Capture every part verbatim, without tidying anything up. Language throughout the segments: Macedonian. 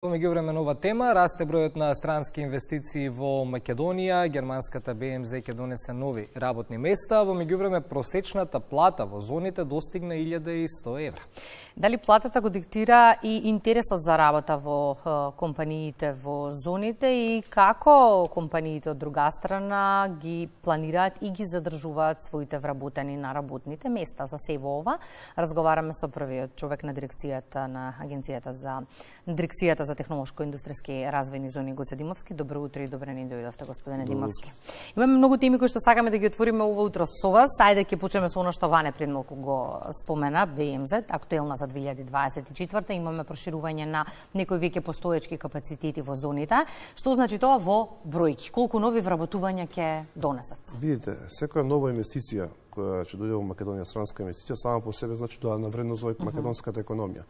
Во меѓувреме нова тема, расте бројот на странски инвестиции во Македонија, германската Б М З ќе донесе нови работни места, во меѓувреме просечната плата во зоните достигна илјада и сто евра. Дали платата го диктира и интересот за работа во компаниите во зоните и како компаниите од друга страна ги планираат и ги задржуваат своите вработени на работните места? За се во ова разговараме со првиот човек на дирекцијата на агенцијата за дирекцијата за технолошко-индустријски развојни зони Гоце Димовски. Добро утро и добре ни дојдовте, господине Димовски. Имаме многу теми кои што сакаме да ги отвориме ова утро со вас. Ајде ќе почнеме со она што Ване пред малку го спомена, Б М З, актуелна за две илјади дваесет и четврта. Имаме проширување на некои веќе постоечки капацитети во зоните. Што значи тоа во бројки? Колку нови вработувања ќе донесат? Видите, секоја нова инвестиција која ќе дојде во Македонија, странска инвестиција, сама по себе значи доаѓа на вредност во македонската економија.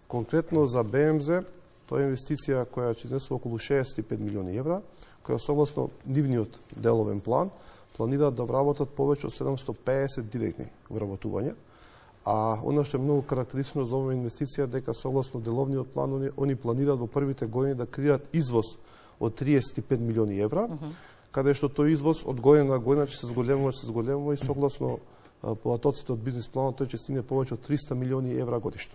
Конкретно за Б М З, тоа е инвестиција која ќе изнесува околу шеесет и пет милиони евра, која согласно нивниот деловен план планираат да вработат повеќе од седумстотини и педесет директни вработувања. А она што е многу карактеристично за оваа инвестиција дека согласно деловниот план они, они планираат во првите години да креираат извоз од триесет и пет милиони евра, uh -huh. каде што тој извоз од година на година ќе се зголемува, ќе се зголемува и согласно податоците од бизнис планот тој ќе стигне повеќе од триста милиони евра годишно.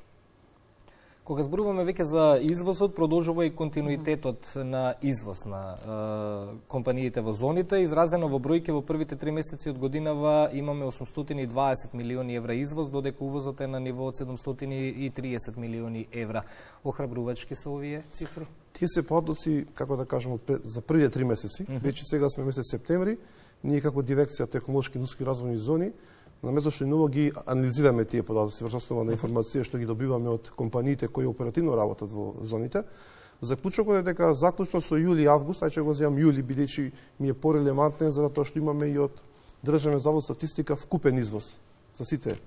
Кога зборуваме веќе за извозот, продолжува и континуитетот на извоз на е, компаниите во зоните. Изразено во бројки во првите три месеци од годинава имаме осумстотини и дваесет милиони евра извоз, додека увозот е на ниво од седумстотини и триесет милиони евра. Охрабрувачки се овие цифри? Тие се подоци, како да кажам, за првите три месеци. Mm -hmm. Веќе сега сме месец септември, ние како дирекција технолошки индустријски развојни зони наместо што ново ги анализираме тие податоци врз основа на информација што ги добиваме од компаниите кои оперативно работат во зоните, заклучокот е дека заклучно со јули и август, ај ќе го земам јули бидејќи ми е порелевантен за тоа што имаме и од Државен завод статистика вкупен извоз за сите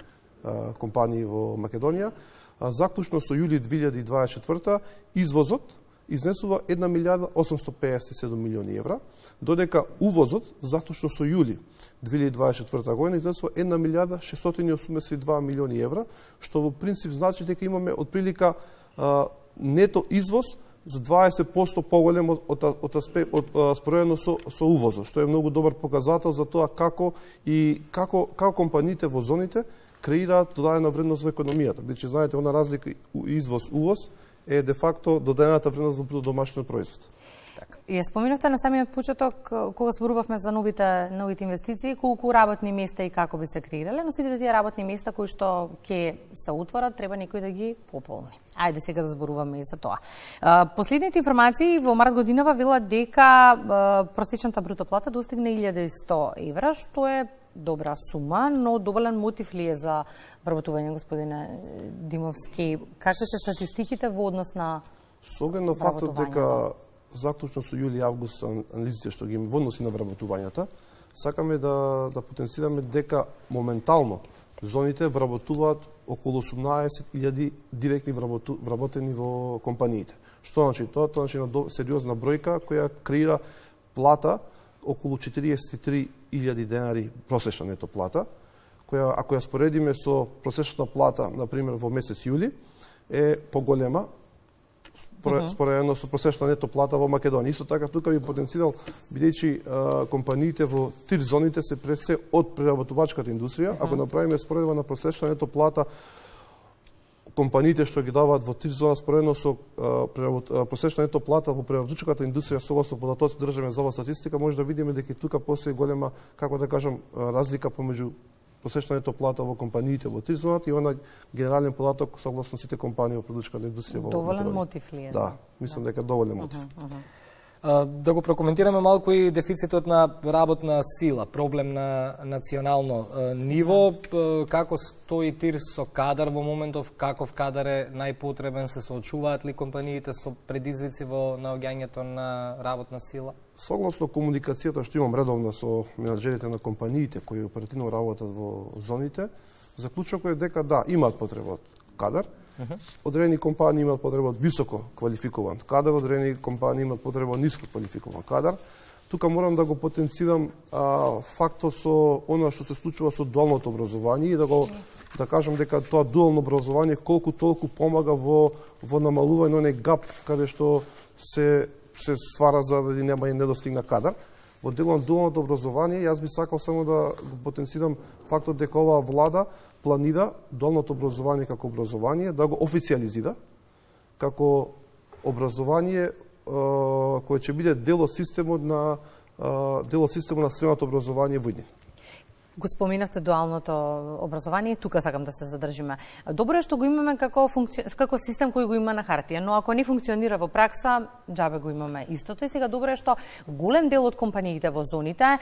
а, компании во Македонија, а, заклучно со јули две илјади дваесет и четврта извозот изнесува една милијарда осумстотини и педесет и седум милиони евра, додека увозот заклучно со јули две илјади дваесет и четврта година изнесува една милијарда шестстотини и осумдесет и два милиони евра, што во принцип значи дека имаме отприлика а, нето извоз за дваесет проценти поголем од, од, од, аспект, од, од споредно со, со увозот, што е многу добар показател за тоа како и како, како компаниите во зоните креираат додадена вредност во економијата. Бидејќи знаете, она разлика извоз-увоз е де факто додадената вредност во домашниот производ. Ја споменавте на самиот почеток кога зборувавме за новите новите инвестиции, колку работни места и како би се креирале, но сите тие работни места кои што ќе се отворат, треба некој да ги пополни. Ајде сега да зборуваме и за тоа. Последните информации во март годинава велат дека просечната бруто плата достигна илјада и сто евра, што е добра сума, но доволен мотив ли е за вработување, господине Димовски? Какви се статистиките во однос на Со оглед на фактот дека заклучно со јули и август анализите што ги имаме во односи на вработувањата, сакаме да да потенцираме дека моментално зоните вработуваат околу осумнаесет илјади директни вработу, вработени во компаниите. Што значи тоа? Тоа значи на сериозна бројка која креира плата околу четириесет и три илјади денари просечна нето плата, која ако ја споредиме со просечната плата на пример во месец јули е поголема споредено со просечна нето плата во Македонија. Исто така тука би потенцирал бидејќи компаниите во тир зоните се пред се од преработувачката индустрија, uh -huh. ако направиме споредба на просечна нето плата компаниите што ги даваат во тир зона споредно со а, просечна нето плата во преработувачката индустрија согласно податоци Државен завод статистика, може да видиме дека тука постои голема, како да кажам, разлика помеѓу просечна нето плата во компаниите во тир зоната и она генерален податок согласно сите компании во преработувачката индустрија во Македонија. Доволен мотив ли е? Да, мислам дека доволен мотив. Uh -huh, uh -huh. Да го прокоментираме малку и дефицитот на работна сила, проблем на национално ниво, како стои тир со кадар во моментов, каков кадар е најпотребен, се соочуваат ли компаниите со предизвици во наоѓањето на работна сила? Согласно комуникацијата што имам редовно со менаџерите на компаниите кои оперативно работат во зоните, заклучокот е дека да, имаат потреба од кадар. Uh -huh. Одредени компании имаат потреба од високо квалификуван кадар, одредени компании имаат потреба од ниско квалификуван кадар. Тука морам да го потенцирам а, фактот со она што се случува со дуалното образование и да го да кажам дека тоа дуално образование колку толку помага во во намалување на гап каде што се се ствара за да нема и недостигна кадар. Во делот на дуалното образование јас би сакал само да го потенцирам фактот дека оваа влада планира дуалното образование како образование да го официализира како образование кој ќе биде дел од системот на дел од системот на средното образование во иднина. Го споминавте дуалното образование, тука сакам да се задржиме. Добро е што го имаме како функци... како систем кој го има на хартија, но ако не функционира во пракса, џабе го имаме истото. И сега добро е што голем дел од компаниите во зоните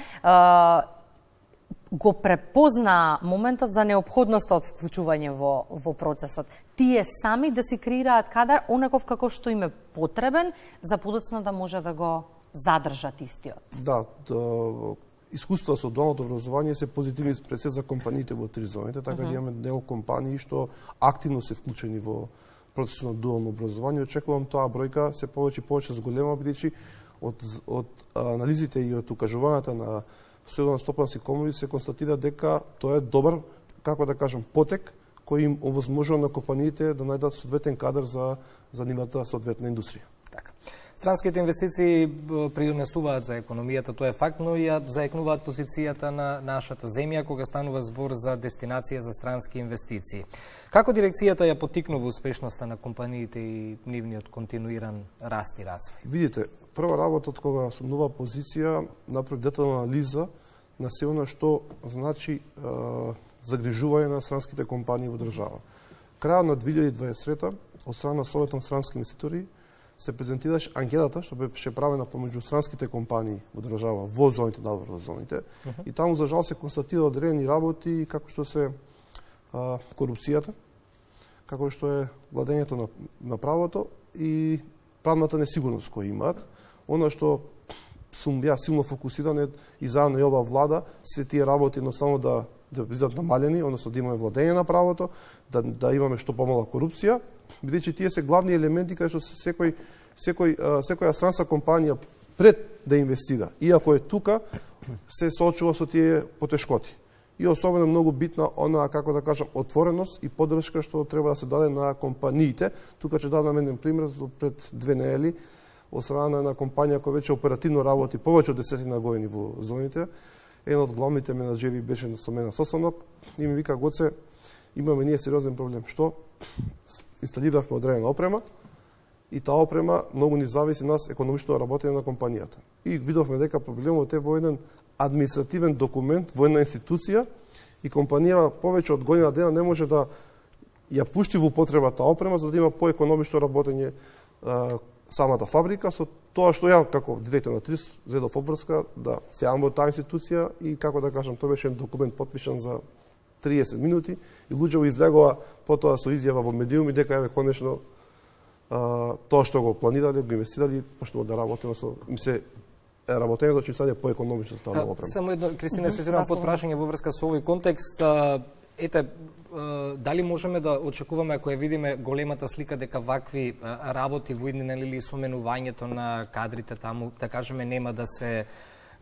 го препозна моментот за неопходноста од вклучување во, во процесот. Тие сами да си креираат кадар онаков како што им е потребен за подоцна да може да го задржат истиот. Да, да искуства со дуалното образование се позитивни пред се за компаниите во три зоните, така uh -huh. да имаме дел компании што активно се вклучени во процесот на дуално образование. Очекувам тоа бројка се повеќе и повеќе зголема, бидејќи од од анализите и од укажувањата на Сојузно-стопански комори се констатира дека тоа е добар, како да кажам, потек кој им овозможува на компаниите да најдат соодветен кадар за за нивната соодветна индустрија. Така. Странските инвестиции придонесуваат за економијата, тоа е факт, но и ја заекнуваат позицијата на нашата земја кога станува збор за дестинација за странски инвестиции. Како дирекцијата ја поттикнува успешноста на компаниите и нивниот континуиран раст и развој? Видите, прва работа од кога сум нова позиција направи детална анализа на се она што значи е, загрижување на странските компании во држава. Крајот на две илјади и дваесет трета од страна на Советот на странски инвеститори се презентираше анкетата што беше правена помеѓу странските компании во држава во зоните, надвор во зоните, uh -huh. и таму за жал се констатира одредени работи како што се а, корупцијата, како што е владењето на, на правото и правната несигурност која имаат. Она што сум ја силно фокусиран е и заедно и ова влада се тие работи едноставно да да бидат намалени, односно да имаме владење на правото, да да имаме што помала корупција, бидејќи тие се главни елементи кај што секој секој секоја странска компанија пред да инвестира, иако е тука, се соочува со тие потешкоти. И особено многу битна она, како да кажам, отвореност и поддршка што треба да се даде на компаниите. Тука ќе дадам еден пример пред две недели од страна на една компанија која веќе оперативно работи повеќе од десетина години во зоните. Еден од главните менаџери беше со мене на состанок и ми вика: Гоце, имаме ние сериозен проблем. Што? Инсталиравме одредена опрема и таа опрема многу ни зависи нас економичното работење на компанијата. И видовме дека проблемот е во еден административен документ, во една институција и компанијава повеќе од година дена не може да ја пушти во употреба таа опрема за да има поекономично работење а, самата фабрика. Со тоа што ја како директор на ТРИС зедов обврска да се јавам во таа институција и како да кажам, тоа беше документ потпишан за триесет минути и луѓето излегува потоа со изјава во медиуми дека еве конечно а, тоа што го планирале, го инвестирали, почнува да работи, со им се работењето ќе стане поекономично за таа нова опрема. Само едно, Кристина, се сетирам под прашање во врска со овој контекст. Ете, дали можеме да очекуваме, ако ја видиме големата слика, дека вакви работи во иднина или соменувањето на кадрите таму, да кажеме, нема да се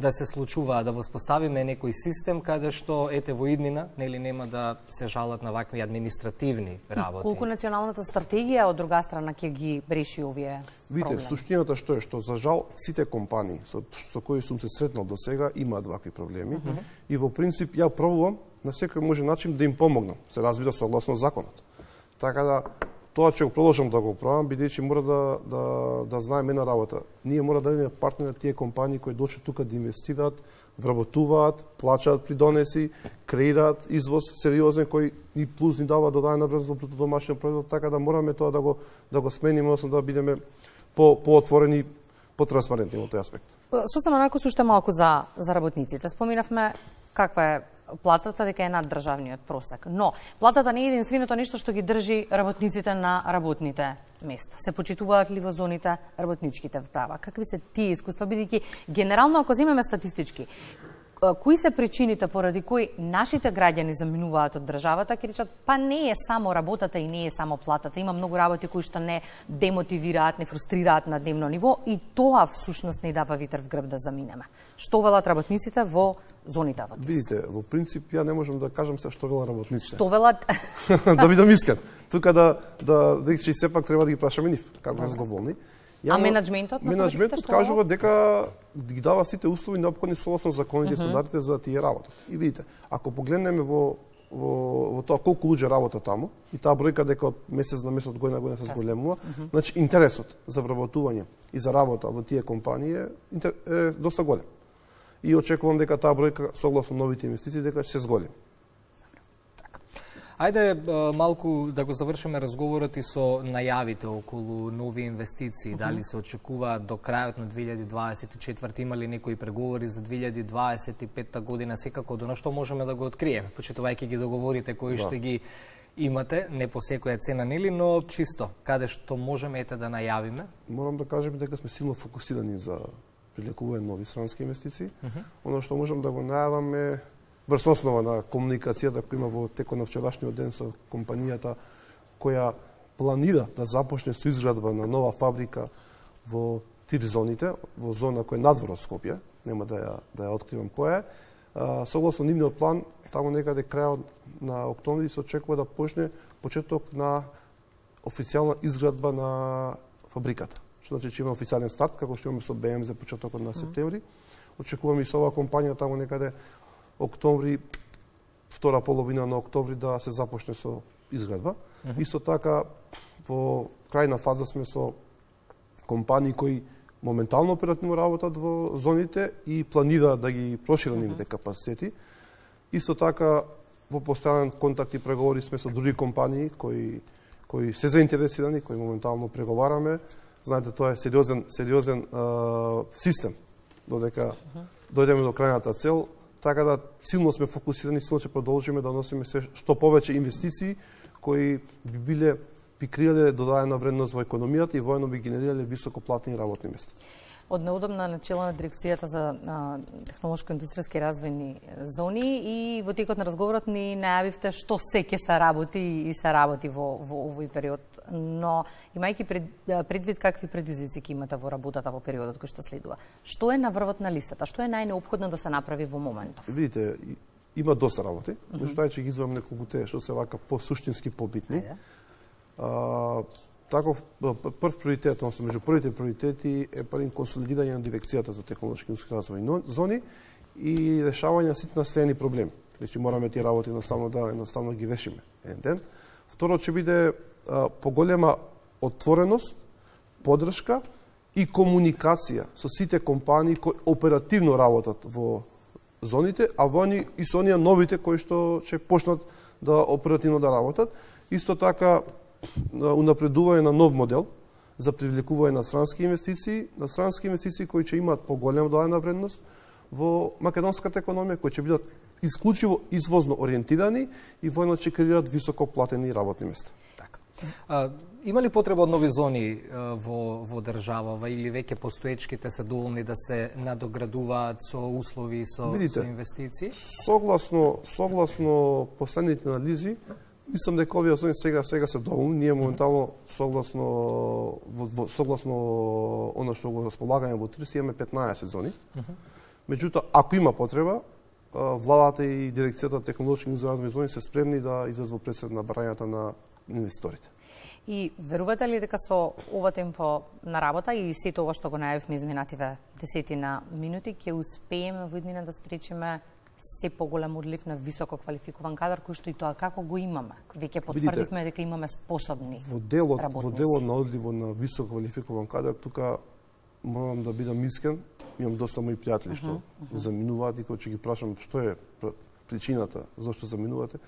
да се случува, да воспоставиме некој систем каде што ете во иднина, нели нема да се жалат на вакви административни работи. Колку националната стратегија од друга страна ќе ги реши овие проблеми? Видите, суштината што е што за жал сите компании со, со кои сум се сретнал до сега имаат вакви проблеми uh -huh. и во принцип ја пробувам на секој може начин да им помогнам, се разбира согласно законот. Така да тоа ќе го продолжам да го правам, бидејќи мора да да да знаеме една работа. Ние мора да имаме партнери на тие компании кои дојдат тука да инвестираат, вработуваат, плачаат придонеси, креираат извоз сериозен кој ни плюс ни дава додадена вредност во бруто домашен производ, така да мораме тоа да го да го смениме, односно да бидеме по поотворени, потранспарентни во тој аспект. Сосема накус уште малку за за работниците. Споминавме каква е платата, дека е над државниот просек. Но платата не е единственото нешто што ги држи работниците на работните места. Се почитуваат ли во зоните работничките права? Какви се тие искуства, бидејќи генерално ако земеме статистички, кои се причините поради кои нашите граѓани заминуваат од државата, ќе речат, па не е само работата и не е само платата. Има многу работи кои што не демотивираат, не фрустрираат на дневно ниво и тоа всушност не дава витар в грб да заминеме. Што велат работниците во зоните во ТИС? Видите, во принцип ја не можам да кажам се што велат работниците. Што велат? Да бидам искрен. Тука да да дека сепак треба да ги прашаме нив како се задоволни. А менаџментот? Менаџментот кажува дека ги дава сите услови неопходни согласно законите и стандардите за да тие работат. И видите, ако погледнеме во во во тоа колку луѓе работат таму и таа бројка дека од месец на месец од година на година се зголемува, значи интересот за вработување и за работа во тие компании е, е доста голем. И очекувам дека таа бројка согласно новите инвестиции дека ќе се зголеми. Ајде малку да го завршиме разговорот и со најавите околу нови инвестиции. Дали се очекуваат до крајот на две илјади дваесет и четврта, има ли некои преговори за две илјади дваесет и петта година, секако до нашто можеме да го откриеме, почитувајќи ги договорите кои да. Што ги имате, не по секоја цена, нели, но чисто, каде што можеме ете да најавиме? Морам да кажем дека сме силно фокусирани за привлекување нови странски инвестиции. Uh -huh. Оно што можам да го најаваме врз основа на комуникацијата која има во текот на вчерашниот ден со компанијата која планира да започне со изградба на нова фабрика во ТИР зоните, во зона која е надвор од Скопје, нема да ја да ја откривам која е. А, согласно нивниот план, таму некаде крајот на октомври се очекува да почне почеток на официјална изградба на фабриката. Што значи че има официјален старт, како што имаме со Б М за почетокот на септември. Очекуваме и со оваа компанија таму некаде октомври, втора половина на октомври да се започне со изградба. Uh -huh. Исто така, во крајна фаза сме со компании кои моментално оперативно работат во зоните и планира да ги прошират нивните uh -huh. капацитети. Исто така, во постојан контакт и преговори сме со други компании кои кои се заинтересирани, кои моментално преговараме. Знаете, тоа е сериозен сериозен а, систем додека uh -huh. дојдеме до крајната цел. Така да силно сме фокусирани, силно ќе продолжиме да носиме се што повеќе инвестиции кои би биле би креале додадена вредност во економијата и воено би генерирале високоплатени работни места. Од неудобна начело на дирекцијата за технолошко-индустријски развојни зони и во текот на разговорот ни најавивте што се ќе се работи и се работи во, во овој период. Но имајќи пред, предвид какви предизвици ќе имате во работата во периодот кој што следува, што е на врвот на листата? Што е најнеопходно да се направи во моментов? Видите, има доста работи, но што е ќе ги извам неколку те што се вака по-суштински побитни. А, Таков прв приоритет, односно меѓу првите приоритети е првин консолидирање на дирекцијата за технолошки индустријски развојни зони и решавање на сите наследени проблеми. Значи мораме тие работи едноставно да едноставно ги решиме еден ден. Второ ќе биде а, поголема отвореност, поддршка и комуникација со сите компании кои оперативно работат во зоните, а во они и со оние новите кои што ќе почнат да оперативно да работат. Исто така унапредување на нов модел за привлекување на странски инвестиции, на странски инвестиции кои ќе имаат поголема додадена вредност во македонската економија, кои ќе бидат исклучиво извозно ориентирани и воено ќе креираат високо платени работни места. Така. А, има ли потреба од нови зони а, во во државава или веќе постоечките се доволни да се надоградуваат со услови со, Видите, со инвестиции? Согласно согласно последните анализи, мислам дека овие зони сега сега се доволни. Ние моментално согласно во, во, согласно она што го располагаме во ТИР имаме петнаесет зони. Uh -huh. Меѓутоа, ако има потреба, владата и дирекцијата за технолошки развојни зони се спремни да излезат во пресед на барањата на инвеститорите. И верувате ли дека со ова темпо на работа и сето ова што го најавивме изминативе десетина минути ќе успееме во иднина да спречиме се поголем одлив на високо квалификуван кадар, кој што и тоа како го имаме? Веќе потврдивме дека имаме способни во делот, работници. Во делот на одливот на високо квалификуван кадар, тука морам да бидам искрен, имам доста мои пријатели што uh -huh, uh -huh. заминуваат и кога ќе ги прашам што е причината зашто заминувате,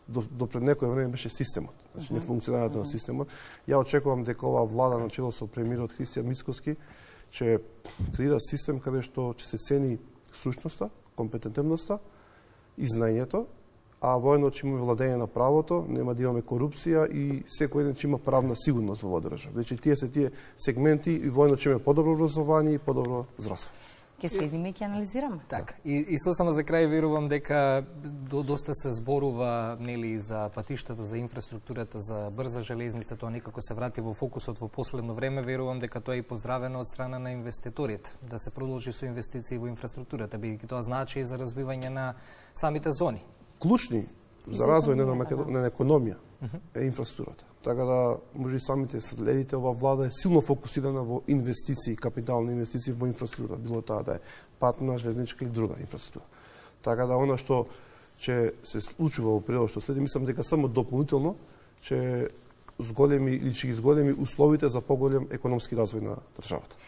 до, до пред некој време беше системот, значи uh -huh. не функционирањето uh -huh. на системот. Ја очекувам дека оваа влада на чело со премиерот Христијан Мицкоски ќе креира систем каде што ќе се цени стручноста, компетентивноста и знаењето, а воено ќе имаме владење на правото, нема да имаме корупција и секој еден ќе има правна сигурност во оваа држава. Значи тие се тие сегменти и воено ќе имаме подобро образование и подобро здравство. Ќе следиме и ќе анализираме. Така. И, и сосема за крај верувам дека до, доста се зборува нели за патиштата, за инфраструктурата, за брза железница, тоа некако се врати во фокусот во последно време. Верувам дека тоа е и поздравено од страна на инвеститорите, да се продолжи со инвестиции во инфраструктурата, бидејќи тоа значи и за развивање на самите зони. Клучни за развој на, на економија е инфраструктурата. Така да, може и самите следите, ова влада е силно фокусирана во инвестиции, капитални инвестиции во инфраструктура, било таа да е патна, железничка или друга инфраструктура. Така да, она што ќе се случува во периодот што следи, мислам дека само дополнително ќе зголеми или ќе ги зголеми условите за поголем економски развој на државата.